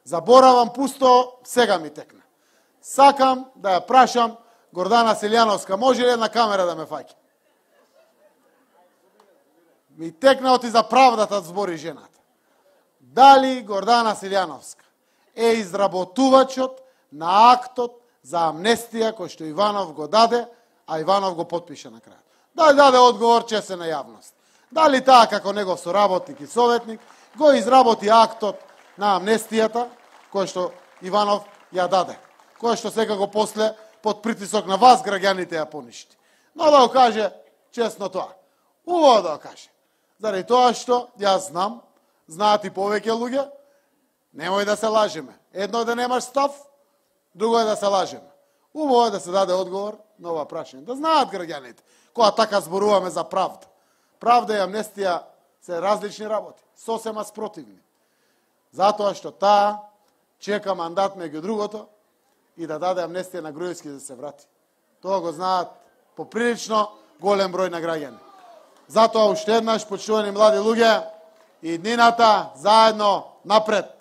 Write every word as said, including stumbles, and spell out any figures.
Заборавам пусто, сега ми текна. Сакам да ја прашам Гордана Селјановска, може ли една камера да ме фаќа? Ми текна оти за правдата збори жената. Дали Гордана Селјановска е изработувачот на актот за амнестија кој што Иванов го даде, а Иванов го потпише на крајот? Дали даде одговор чесен на јавност? Дали таа како негов соработник и советник го изработи актот на амнестијата кој што Иванов ја даде, кој што секако после под притисок на вас граѓаните ја поништи. Но да го каже честно тоа. Убаво да го каже. Заради тоа што јас знам, знаат и повеќе луѓе, немој да се лажеме. Едно е да немаш став, друго е да се лажеме. Убаво е да се даде одговор на ова прашање. Да знаат граѓаните, кога така зборуваме за правда. Правда и амнестија се различни работи, сосема спротивни. Затоа што таа чека мандат меѓу другото и да даде амнестија на Груевски да се врати. Тоа го знаат поприлично голем број на граѓани. Затоа уште еднаш, почитувани млади луѓе, и днината заедно напред.